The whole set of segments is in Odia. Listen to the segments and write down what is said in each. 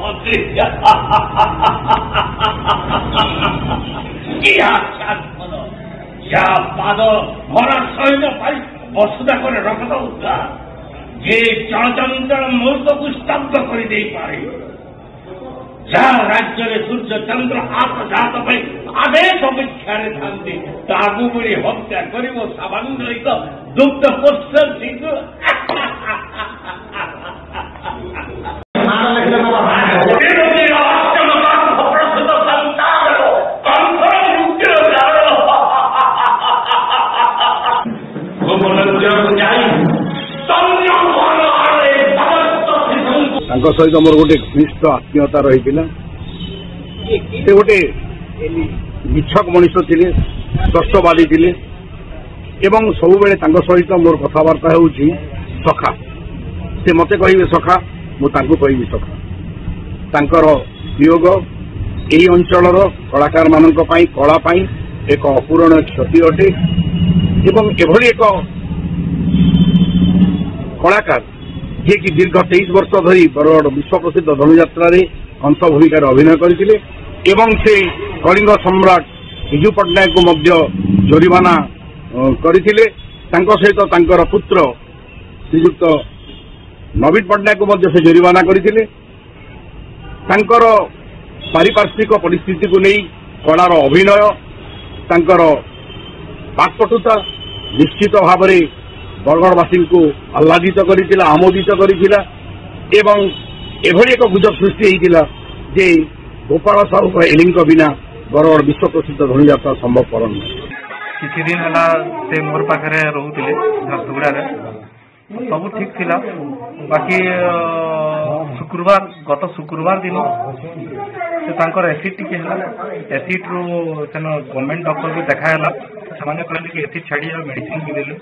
ହସି କି ହାସ୍ୟାସ୍ପଦ! ଯାହା ପାଦ ଭରା ସୈନ୍ୟ ପାଇଁ ବସୁଧା କରି ରକ୍ତ ଉଦ୍ଧାର, ଯେ ଚଳଚଞ୍ଚଳ ମୁହୂର୍ତ୍ତକୁ ସ୍ତବ୍ଧ କରିଦେଇପାରେ, ଯାହା ରାଜ୍ୟରେ ସୂର୍ଯ୍ୟ ଚନ୍ଦ୍ର ଆତଯାତ ପାଇଁ ଆଦେଶ ଅପେକ୍ଷାରେ ଥାନ୍ତି, ତାକୁ ବୋଲି ହତ୍ୟା କରିବ ସାମାନ୍ୟ ଏକ ଦୁଗ୍ଧ ପୋଷ୍ୟ ଶିଶୁ? ପ୍ରସୂତ ସନ୍ତାନ କଂସର ମୃତ୍ୟୁର କାରଣ। ଗୋପନକୁ ଯାଇ ସ୍ତନ୍ୟପାନ ଆଳରେ ସମସ୍ତ ଶିଶୁଙ୍କୁ ତାଙ୍କ ସହିତ ମୋର ଗୋଟେ ଘନିଷ୍ଠ ଆତ୍ମୀୟତା ରହିଥିଲା। ସେ ଗୋଟେ ନିଛକ ମଣିଷ ଥିଲେ, ସ୍ପଷ୍ଟବାଦୀ ଥିଲେ ଏବଂ ସବୁବେଳେ ତାଙ୍କ ସହିତ ମୋର କଥାବାର୍ତ୍ତା ହେଉଛି ସଖା। ସେ ମତେ କହିବେ ସଖା, ମୁଁ ତାଙ୍କୁ କହିବି ସଖା। ତାଙ୍କର ବିୟୋଗ ଏହି ଅଞ୍ଚଳର କଳାକାରମାନଙ୍କ ପାଇଁ, କଳା ପାଇଁ ଏକ ଅପୂରଣୀୟ କ୍ଷତି ଅଟେ। ଏବଂ ଏଭଳି ଏକ କଳାକାର ଯିଏକି ଦୀର୍ଘ 23 ବର୍ଷ ଧରି ବରଗଡ଼ ବିଶ୍ୱପ୍ରସିଦ୍ଧ ଧନୁଯାତ୍ରାରେ କଂସ ଭୂମିକାରେ ଅଭିନୟ କରିଥିଲେ ଏବଂ ସେ କଳିଙ୍ଗ ସମ୍ରାଟ ବିଜୁ ପଟ୍ଟନାୟକଙ୍କୁ ମଧ୍ୟ ଜୋରିମାନା କରିଥିଲେ। ତାଙ୍କ ସହିତ ତାଙ୍କର ପୁତ୍ର ଶ୍ରୀଯୁକ୍ତ ନବୀନ ପଟ୍ଟନାୟକଙ୍କୁ ମଧ୍ୟ ସେ ଜୋରିମାନା କରିଥିଲେ। ତାଙ୍କର ପାରିପାର୍ଶ୍ୱିକ ପରିସ୍ଥିତିକୁ ନେଇ କଳାର ଅଭିନୟ, ତାଙ୍କର ବାକ୍ପଟୁତା ନିଶ୍ଚିତ ଭାବରେ ବରଗଡ଼ବାସୀଙ୍କୁ ଆହ୍ଲାଦିତ କରିଥିଲା, ଆମୋଦିତ କରିଥିଲା ଏବଂ ଏଭଳି ଏକ ଗୁଜବ ସୃଷ୍ଟି ହେଇଥିଲା ଯେ ଗୋପାଳ ସାହୁ ଏଲିଙ୍କ ବିନା ବରଗଡ଼ ବିଶ୍ୱପ୍ରସିଦ୍ଧ ଧନୁଯାତ୍ରା ସମ୍ଭବପର ନୁହେଁ। କିଛି ଦିନ ହେଲା ସେ ମୋର ପାଖରେ ରହୁଥିଲେ ଝାରସୁଗୁଡ଼ାରେ, ସବୁ ଠିକ ଥିଲା। ବାକି ଶୁକ୍ରବାର, ଗତ ଶୁକ୍ରବାର ଦିନ ସେ ତାଙ୍କର ଏସିଡ୍ ଟିକେ ହେଲା। ଏସିଡ୍ରୁ ସେନ ଗଭର୍ଣ୍ଣମେଣ୍ଟ ଡକ୍ଟରକୁ ଦେଖା ହେଲା। ସେମାନେ କହିଲେ କି ଏସିଡ୍ ଛାଡ଼ି, ମେଡିସିନ ବି ଦେଲେ।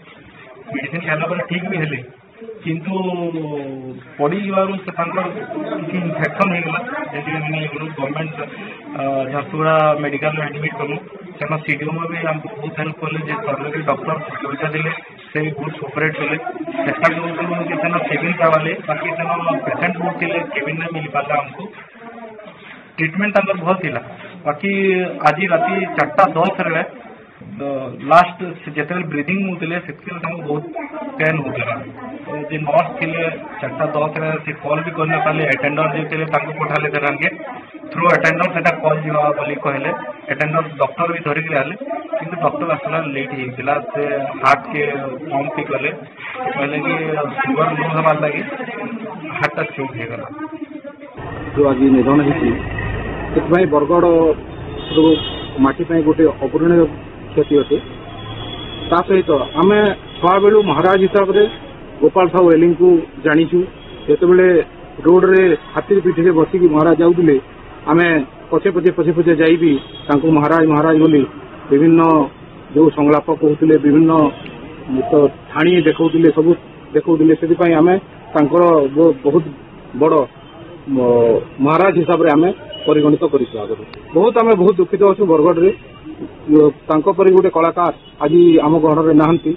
ମେଡିସିନ ଖାଇଲା ପରେ ଠିକ ବି ହେଲେ, କିନ୍ତୁ ପଡ଼ିଯିବାରୁ ସେ ତାଙ୍କର କିଛି ଇନଫେକ୍ସନ ହେଇଗଲା। ଯେମିତି ଆମେ ଗଭର୍ଣ୍ଣମେଣ୍ଟ ଝାରସୁଗୁଡ଼ା ମେଡିକାଲରେ ଆଡମିଟ୍ କଲୁ। ସେନ ସିଡିଓ ବି ଆମକୁ ବହୁତ ହେଲ୍ପ କଲେ ଯେ ସରକାରୀ ଡକ୍ଟର ସୁବିଧା ଦେଲେ, ସେ ବି ବହୁତ କୋଅପରେଟ୍ କଲେ। ଚେଷ୍ଟା କରୁଥିଲୁ କି ସେନ କେବିନ୍ ପାଇବାଲେ, ବାକି ସେନ ପେସେଣ୍ଟ ବହୁତ ଥିଲେ, କେବିନ୍ ନାଇଁ ମିଳି ପାରିଲା ଆମକୁ। ଟ୍ରିଟମେଣ୍ଟ ତାଙ୍କର ଭଲ ଥିଲା। ବାକି ଆଜି ରାତି 4ଟା 10ରେ ଲାଷ୍ଟ ଯେତେବେଳେ ବ୍ରିଦିଂ ନେଉଥିଲେ, ସେତିକି ତାଙ୍କୁ ବହୁତ ପେନ୍ ହଉଥିଲା। ଯେ ନର୍ସ ଥିଲେ, 4ଟା 10ରେ ସେ କଲ୍ ବି କରି ନପାରିଲେ। ଆଟେଣ୍ଡର ଯିଏ ଥିଲେ, ତାଙ୍କୁ ପଠାଲେ। ସେଟାକେ ଥ୍ରୁ ଆଟେଣ୍ଡର ସେଟା କଲ୍ ଯିବା ବୋଲି କହିଲେ। ଆଟେଣ୍ଡର ଡକ୍ଟର ବି ଧରିକି ଆଇଲେ, କିନ୍ତୁ ଡକ୍ଟର ଆସିଲା ଲେଟ୍ ହେଇଥିଲା। ସେ ହାର୍ଟ କେ ପମ୍ପ ବି କଲେ, କହିଲେ କି ସୁଗର ଲୋ ହେବାର ଲାଗି ହାର୍ଟଟା ଚୋକ୍ ହେଇଗଲା। ଯୋଉ ଆଜି ନିଧନ ହେଇଛି, ସେଥିପାଇଁ ବରଗଡ଼ରୁ ମାଟି ପାଇଁ ଗୋଟେ ଅପୂରଣୀୟ କ୍ଷତି ଅଟେ। ତା ସହିତ ଆମେ ଛୁଆବେଳୁ ମହାରାଜ ହିସାବରେ ଗୋପାଳ ସାହୁ ଏଲିଙ୍କୁ ଜାଣିଛୁ। ଯେତେବେଳେ ରୋଡରେ ହାତୀ ପିଠିରେ ବସିକି ମହାରାଜ ଯାଉଥିଲେ, ଆମେ ପଛେ ପଛେ ପଛେ ପଛେ ଯାଇ ବି ତାଙ୍କୁ ମହାରାଜ ମହାରାଜ ବୋଲି ବିଭିନ୍ନ ଯୋଉ ସଂଳାପ କହୁଥିଲେ, ବିଭିନ୍ନ ତ ଠାଣି ଦେଖାଉଥିଲେ, ସବୁ ଦେଖାଉଥିଲେ। ସେଥିପାଇଁ ଆମେ ତାଙ୍କର ବହୁତ ବଡ ମହାରାଜ ହିସାବରେ ଆମେ ପରିଗଣିତ କରିଛୁ ଆଗରୁ। ବହୁତ ଆମେ ବହୁତ ଦୁଃଖିତ ଅଛୁ ବରଗଡ଼ରେ, ତାଙ୍କ ପରି ଗୋଟେ କଳାକାର ଆଜି ଆମ ଗହଣରେ ନାହାନ୍ତି।